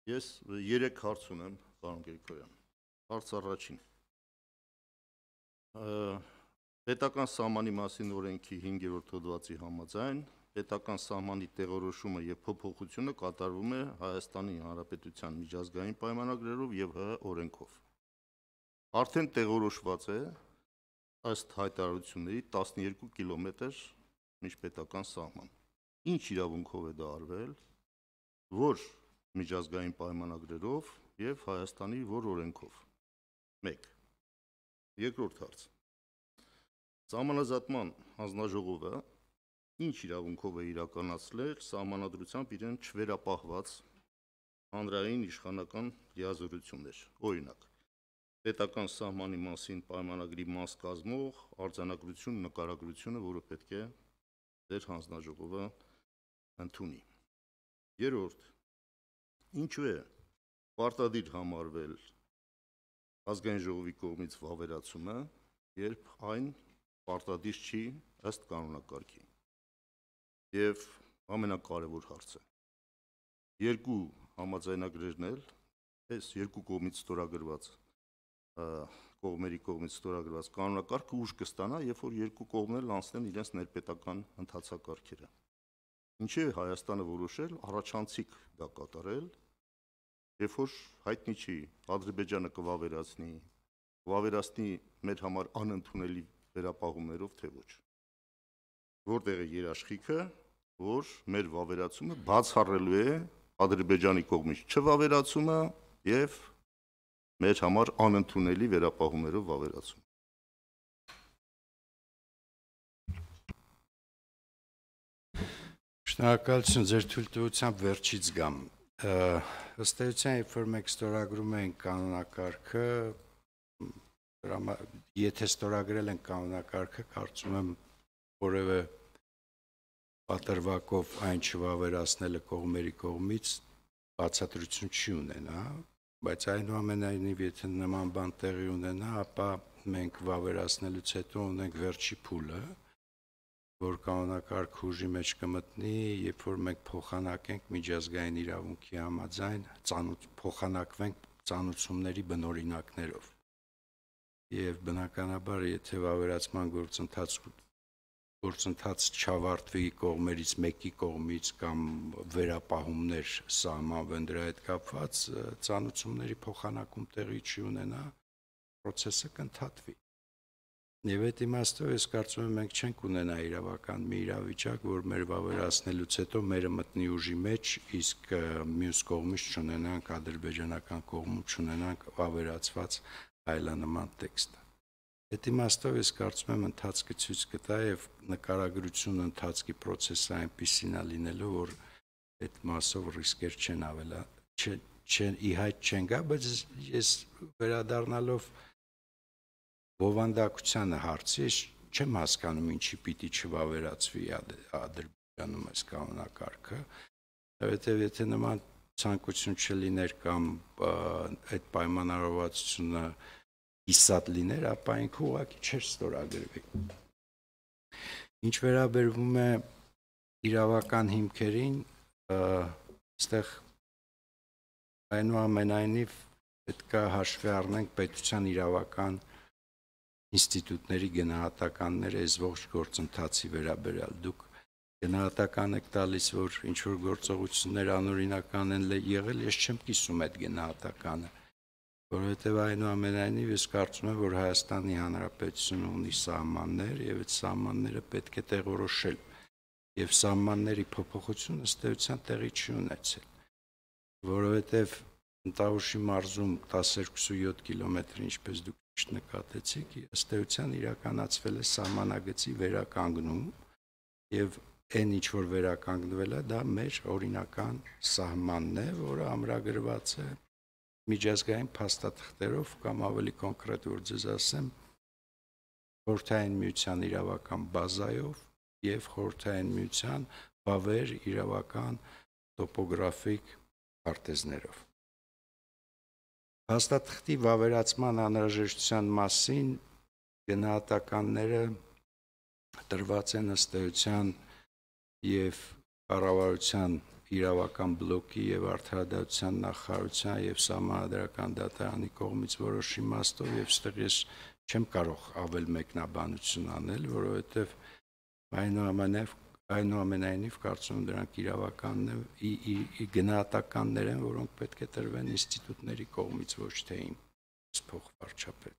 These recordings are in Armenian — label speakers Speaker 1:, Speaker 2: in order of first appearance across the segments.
Speaker 1: Ես 3 հարց ունեմ, պարոն Գրիգորյան։ Հարց առաջին։ Պետական սահմանի մասին օրենքի 5-րդ հոդվածի համաձայն պետական սահմանի տեղորոշումը եւ փոփոխությունը կատարվում է Հայաստանի Հանրապետության միջազգային պայմանագրերով եւ ՀՀ օրենքով։ Արդեն տեղորոշված է ըստ հայտարարությունների 12 կիլոմետր միջպետական սահման։ Ինչ իրավունքով է դա արվել, որ միջազգային պայմանագրերով եւ Հայաստանի որ օրենքով։ 1. Երկրորդ հարց։ Սահմանազատման հանձնաժողովը ինչ իրավունքով է իրականացրել սահմանադրությամբ իրեն չվերապահված հանրային իշխանական լիազորություններ, օրինակ, պետական սահմանի մասին պայմանագրի մաս կազմող արձանագրություն նկարագրությունը, որը պետք է ձեր հանձնաժողովը ընդունի։ Երրորդ, ինչու է պարտադիր համարվել ազգային ժողովի կողմից վավերացումը, երբ այն պարտադիր չի ըստ կանոնակարգի։ Եվ ամենակարևոր հարցը, երկու համաձայնագրերն էլ, այս երկու կողմից ստորագրված կողմերի կողմից ստորագրված կանոնակարգը ուժ կստանա, երբ որ երկու կողմն էլ անցնեն իրենց ներպետական ընթացակարգերը։ Ինչեւ Հայաստանը որոշել առաջանցիկ դա կատարել, երբ որ հայտնի չի Ադրբեջանը կվավերացնի մեր համար անընդունելի վերապահումներով թե ոչ։ Որտեղ է երաշխիքը, որ մեր վավերացումը բացառելու է Ադրբեջանի կողմից չվավերացումը եւ մեր համար անընդունելի վերապահումներով վավերացումը։
Speaker 2: Շնորհակալություն, ձեր թույլտվությամբ վերջից գամ։ Ըստ էության, երբ որ մենք ստորագրում ենք կանոնակարգը, եթե ստորագրել ենք կանոնակարգը, կարծում եմ որևէ պատրվակով այն չվավերացնելը կողմերի կողմից բացատրություն չի ունենա, բայց այնուամենայնիվ եթե նման բան տեղի ունենա, ապա մենք վավերացնելուց հետո ունենք վերջի փուլը, որ կանոնակարգ ուժի մեջ կմտնի, երբ որ մենք փոխանակենք միջազգային իրավունքի համաձայն, փոխանակվենք ծանուցումների բնօրինակներով։ Եվ բնականաբար, եթե վավերացման գործընթաց չավարտվի կողմերից մեկի կողմից կամ վերապահումներ սահմանվեն դրա հետ կապված, ծանուցումների փոխանակում տեղի չի ունենա, process-ը կընդհատվի։ Եվ այդ իմաստով ես կարծում եմ մենք չենք ունենա իրավական մի իրավիճակ, որ մեր վավերացնելուց հետո մերը մտնի ուժի մեջ, իսկ մյուս կողմից չունենանք ադրբեջանական կողմում չունենանք վավերացված այլանման տեքստը։ Այդ իմաստով ես կարծում եմ ընթացքը ցույց կտա եւ նկարագրությունը ընթացքի process-ը այնպիսին է լինելու, որ այդ մասով ռիսկեր չեն ի հայտ չեն գա, բայց ես վերադառնալով բովանդակությանը հարցի, ես չեմ հասկանում ինչի պիտի չվավերացվի Ադրբեջանում այս կանոնակարգը, որովհետև եթե նման ցանկություն չլիներ կամ այդ պայմանավորվածությունը հիսատ լիներ, ապա ինքը ուղղակի չէր ստորագրվի։ Ինչ վերաբերվում է իրավական հիմքերին, այստեղ այնուամենայնիվ պետք է հաշվի առնենք պետության իրավական ինստիտուտների գնահատականները այս ողջ գործընթացի վերաբերյալ։ Դուք գնահատական եք տալիս, որ ինչ-որ գործողություններ անօրինական են եղել, ես չեմ կիսում այդ գնահատականը, որովհետև այնուամենայնիվ ես կարծում եմ, որ Հայաստանի Հանրապետությունը ունի սահմաններ եւ այդ սահմանները պետք է տեղորոշել եւ սահմանների փոփոխությունը ըստ էության տեղի չի ունեցել, որովհետև Տավուշի մարզում 12.7 կիլոմետր, ինչպես դուք նկատեցիք, ըստ էության իրականացվել է սահմանագծի վերականգնում եւ այն ինչ որ վերականգնվել է, դա մեր օրինական սահմանն է, որը ամրագրված է միջազգային փաստաթղթերով կամ ավելի կոնկրետ որ ձեզ ասեմ, Խորհրդային Միության իրավական բազայով եւ Խորհրդային Միության բավեր իրավական տոպոգրաֆիկ քարտեզներով։ Փաստաթղթի վավերացման անհրաժեշտության մասին գնահատականները տրված են ըստ էության եւ կառավարության իրավական բլոկի եւ արդարադատության նախարարության եւ Սահմանադրական դատարանի կողմից որոշ իմաստով եւ ստեղ ես չեմ կարող ավել մեկնաբանություն անել, որովհետեւ այնուամենայնիվ կարծում եմ դրանք իրավականն է գնահատականներ են, որոնք պետք է տրվեն ինստիտուտների կողմից, ոչ թե իմ փոխվարչապետ։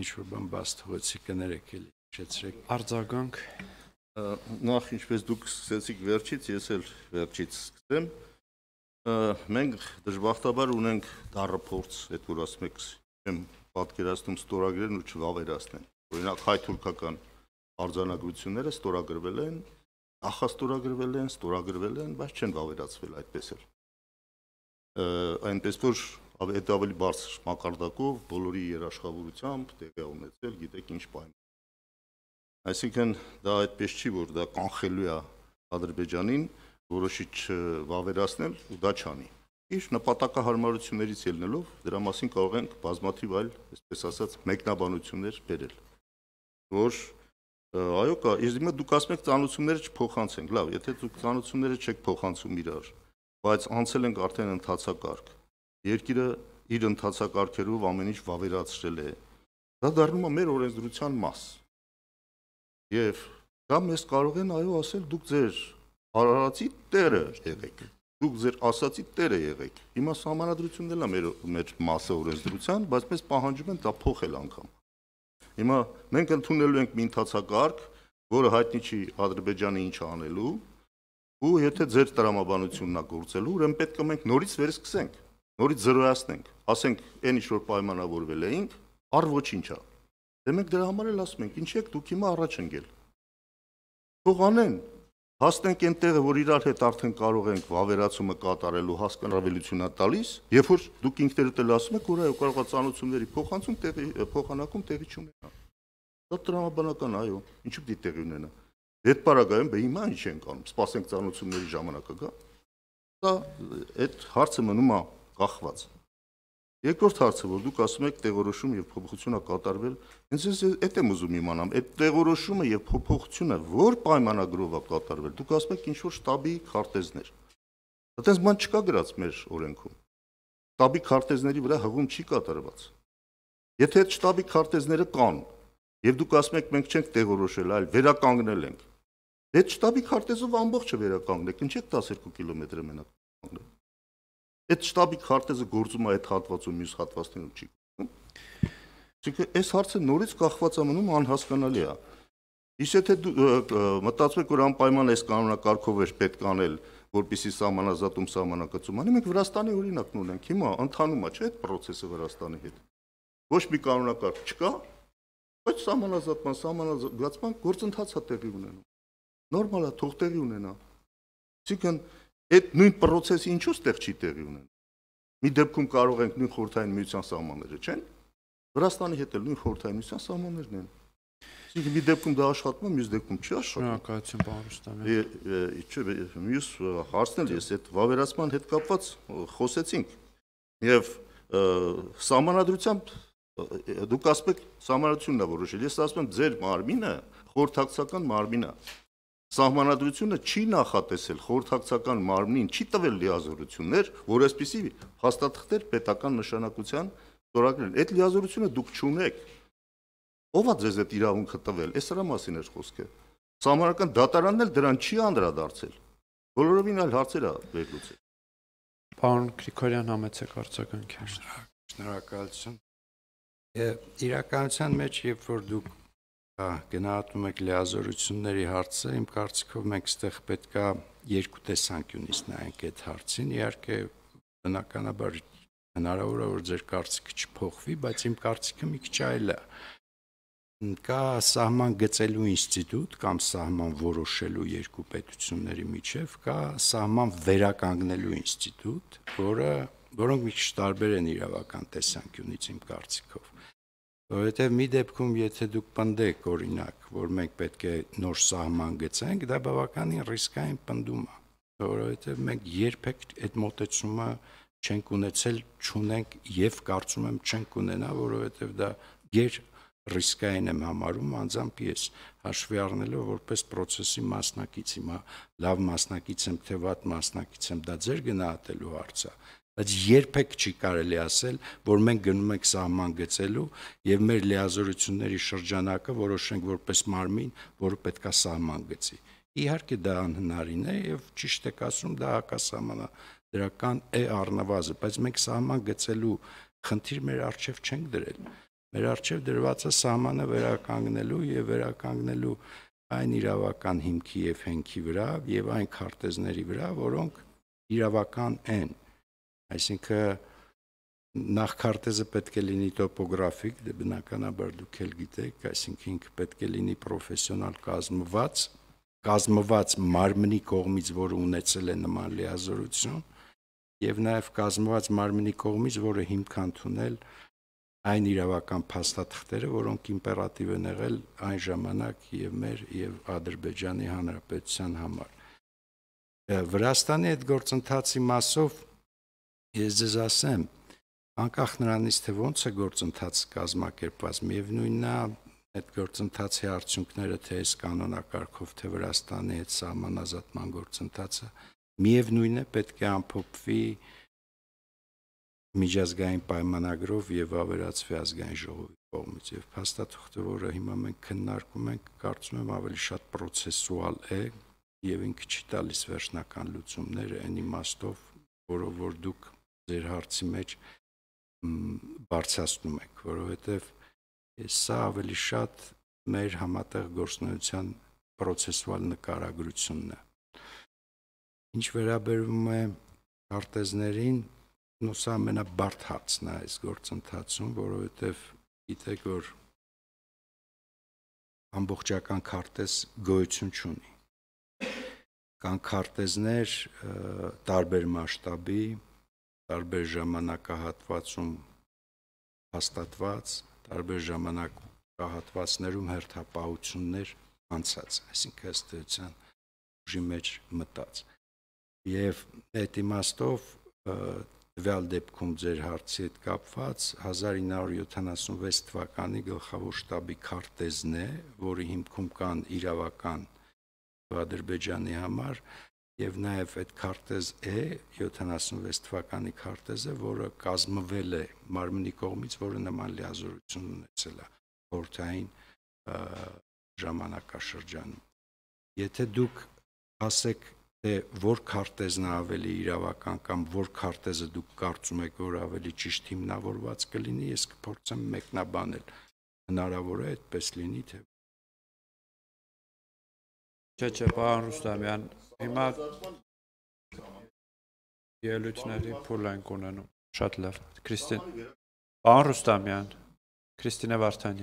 Speaker 2: Ինչ-որ բան բաց թողեցի կներեք էլի, շեցրեք։
Speaker 3: Արձագանք։
Speaker 1: Նախ ինչպես դուք սկսեցիք վերջից, ես էլ վերջից սկսեմ։ Մենք դժբախտաբար ունենք դառը փորձ, այդ որ ասում եք, չեմ պատկերացնում ստորագրեն ու չվավերացնեն։ Օրինակ հայ-թուրքական արձանագրությունները ստորագրվել են, նախաստորագրվել են, բայց չեն վավերացվել այդպես էլ։ Այնպես որ այդ ավելի բարձր մակարդակով բոլորի երաշխավորությամբ տեղի ունեցել, գիտեք ինչ պայման։ Այսինքն դա այդպես չի, որ դա կանխելու է Ադրբեջանին որոշի չվավերացնել ու դա չանի։ Իր նպատակահարմարություններից ելնելով դրա մասին կարող ենք բազմաթիվ այլ, այսպես ասած, մեկնաբանություններ բերել, որ այո, իսկ դուք ասում եք ծանոթությունները չփոխանցենք, լավ, եթե դուք ծանոթությունները չեք փոխանցում իրար, բայց անցել ենք արդեն ընթացակարգ, երկիրը իր ընթացակարգերով ամեն ինչ վավերացրել է, դա դառնում է մեր օրենսդրության մաս, եւ դա մեզ կարող են այո ասել դուք ձեր արարածի տերը եղեք, դուք ձեր ասացի տերը եղեք, հիմա սահմանադրությունն էլ է մեր մասը օրենսդրության, բայց մեզ պահանջում են դա փոխել անգամ։ Հիմա մենք ընդունելու ենք մի ընթացակարգ, որը հայտնի չի Ադրբեջանը ինչ անելու, ու եթե ձեր տրամաբանությունն է գործելու, ուրեմն պետք է մենք նորից վերսկսենք, նորից զրոյացնենք, ասենք այն ինչ որ պայմանավորվել էինք, առ ոչինչ է։ Դե մենք դրա համար էլ ասում ենք, ինչ եք դուք հիմա առաջ ընկել։ Թող անեն, հասնենք այն տեղը, որ իրար հետ արդեն կարող ենք վավերացումը կատարելու հասկանալիությունա տալիս, երբ որ դուք ինքներդ էլ ասում եք, որ այո կարող է ծանոթությունների փոխանակում տեղի չունենա։ Դա տրամաբանական այո, ինչու՞ պիտի տեղի ունենա։ Այդ պարագայում հիմա ինչ ենք անում, սպասենք ծանոթությունների ժամանակը գա։ Դա այդ հարցը մնում է կախված։ Երկրորդ հարցը, որ դուք ասում եք տեղորոշում եւ փոփոխություն է կատարվել, ինձ այդ եմ ուզում իմանամ, այդ տեղորոշումը եւ փոփոխությունը որ պայմանագրով է կատարվել։ Դուք ասում եք ինչ որ շտաբի քարտեզներ։ Այդպես բան չկա գրած մեր օրենքում։ Շտաբի քարտեզների վրա հղում չի կատարված։ Եթե այդ շտաբի քարտեզները կան եւ դուք ասում եք մենք չենք տեղորոշել, այլ վերականգնել ենք։ Այդ շտաբի քարտեզով ամբողջը վերականգնեք, ինչ եք 12 կիլոմետրը մենակ կանգնել։ Այդ շտաբի քարտեզը գործում է այդ հատվածում, մյուս հատվածներում չի գործում։ Այսինքն այս հարցը նորից կախված է մնում անհասկանալի է։ Իսկ եթե դու մտածում եք, որ անպայման այս կանոնակարգով է պետք անել, որպեսզի սահմանազատում սահմանակացում անի, մենք Վրաստանի օրինակն ունենք, հիմա ընթանում է, չէ՞, այդ process-ը Վրաստանի հետ։ Ոչ մի կանոնակարգ չկա, բայց սահմանազատման գործընթաց է տեղի ունենում։ Նորմալ է, թող տեղի ունենա։ Այսինքն այդ նույն process-ը ինչու՞ ստեղ չի տեղի ունենում։ Մի դեպքում կարող ենք նույն խորհրդային միության սահմանները, չէ՞։ Վրաստանի հետ էլ նույն խորհրդային միության սահմաններն են։ Այսինքն մի դեպքում դա աշխատում է, մյուս դեպքում չի աշխատում։
Speaker 3: Շնորհակալություն, պարոն Ռուստամյան։
Speaker 1: Մյուս հարցն էլ ես այդ վավերացման հետ կապված խոսեցինք եւ սահմանադրությամբ դուք ասում եք սահմանադրությունն է որոշել։ Ես ասում եմ ձեր մարմինը խորհրդակցական մարմին է։ Սահմանադրությունը չի նախատեսել խորհրդակցական մարմնին, չի տվել լիազորություններ, որ այսպիսի հաստատքներ պետական նշանակության ստորագրեն։ Այդ լիազորությունը դուք չունեք։ Ո՞վ է ձեզ այդ իրավունքը տվել։ Այս դրա մասին էր խոսքը։ Սահմանական դատարանն էլ դրան չի անդրադարձել։ Բոլորովին այլ հարցեր է վերլուծել։
Speaker 3: Պարոն Գրիգորյան, համեցեք արձագանքի։
Speaker 2: Շնորհակալություն։ Իրականության մեջ, երբ որ դուք գնահատում եք լիազորությունների հարցը, իմ կարծիքով մենք այստեղ պետքա երկու տեսանկյունից նայենք այդ հարցին։ Իհարկե, բնականաբար հնարավոր է, որ ձեր կարծիքը չփոխվի, բայց իմ կարծիքը մի քիչ այլ է։ Կա սահման գծելու ինստիտուտ կամ սահման որոշելու երկու պետությունների միջև, կա սահման վերականգնելու ինստիտուտ, որոնք մի քիչ տարբեր են իրավական տեսանկյունից իմ կարծիքով։ Որովհետև մի դեպքում, եթե դուք պնդեք, օրինակ, որ մենք պետք է նոր սահման գծենք, դա բավականին ռիսկային պնդում է, որովհետև մենք երբեք այդ մոտեցումը չենք ունեցել, չունենք եւ կարծում եմ չենք ունենա, որովհետև դա ռիսկային եմ համարում անձամբ ես, հաշվի առնելով որպես process-ի մասնակից, հիմա լավ մասնակից եմ, թե վատ մասնակից եմ, դա ձեր գնահատելու հարց է, բայց երբեք չի կարելի ասել, որ մենք գնում ենք սահման գծելու եւ մեր լիազորությունների շրջանակը որոշենք որպես մարմին, որը պետք է սահման գծի։ Իհարկե դա անհնարին է եւ ճիշտ եք ասում, դա հակասահմանադրական է առնվազն, բայց մենք սահման գծելու խնդիր մեր առջև չենք դրել։ Մեր առջև դրված է սահմանը վերականգնելու եւ վերականգնելու այն իրավական հիմքի եւ հենքի վրա եւ այն քարտեզների վրա, որոնք իրավական են։ Այսինքն նախ քարտեզը պետք է լինի տոպոգրաֆիկ, դե բնականաբար դուք էլ գիտեք, այսինքն ինքը պետք է լինի պրոֆեսիոնալ կազմված մարմնի կողմից, որը ունեցել է նման լիազորություն, եւ նաեւ կազմված մարմնի կողմից, որը հիմք ընդունել այն իրավական փաստաթղթերը, որոնք իմպերատիվ են եղել այն ժամանակ եւ մեր եւ Ադրբեջանի Հանրապետության համար։ Վրաստանի այդ գործընթացի մասով ես ձեզ ասեմ, անկախ նրանից թե ոնց է գործընթացը կազմակերպված, միևնույնն է այդ գործընթացի արդյունքները թե այս կանոնակարգով, թե Վրաստանի հետ սահմանազատման գործընթացը, միևնույնն է պետք է ամփոփվի միջազգային պայմանագրով եւ ավերածվի ազգային ժողովի կողմից եւ փաստաթղթը, որը հիմա մենք քննարկում ենք, կարծում եմ ավելի շատ պրոցեսուալ է եւ ինքը չի տալիս վերջնական լուծումներ այն իմաստով, որով որ դուք ձեր հարցի մեջ բարձրացնում եք, որովհետեւ սա ավելի շատ մեր համատեղ գործունեության պրոցեսուալ նկարագրությունն է։ Ինչ վերաբերում է քարտեզներին, սա ամենաբարդ հարցն է այս գործընթացում, որովհետև գիտեք, որ ամբողջական քարտեզ գոյություն չունի։ Կան քարտեզներ տարբեր մասշտաբի, տարբեր ժամանակահատվածում հաստատված, տարբեր ժամանակահատվածներում հերթապահություններ անցած, այսինքն ըստ էության ուժի մեջ մտած։ Եվ այդ իմաստով տվյալ դեպքում ձեր հարցի հետ կապված 1976 թվականի գլխավոր շտաբի քարտեզն է, որի հիմքում կան իրավական Ադրբեջանի համար եւ նաեւ այդ քարտեզ է 76 թվականի քարտեզը, որը կազմվել է մարմնի կողմից, որը նման լիազորություն ունեցել է խորհրդային ժամանակաշրջանում։ Եթե դուք ասեք թե որ քարտեզն է ավելի իրավական կամ որ քարտեզը դուք կարծում եք, որ ավելի ճիշտ հիմնավորված կլինի, ես կփորձեմ մեկնաբանել։ Հնարավոր է այդպես լինի, թե
Speaker 3: Չէ, պարոն Ռուստամյան, հիմա ելույթների փուլ ենք ունենում։ Շատ լավ։ Պարոն Ռուստամյան, Քրիստինե Վարդանյան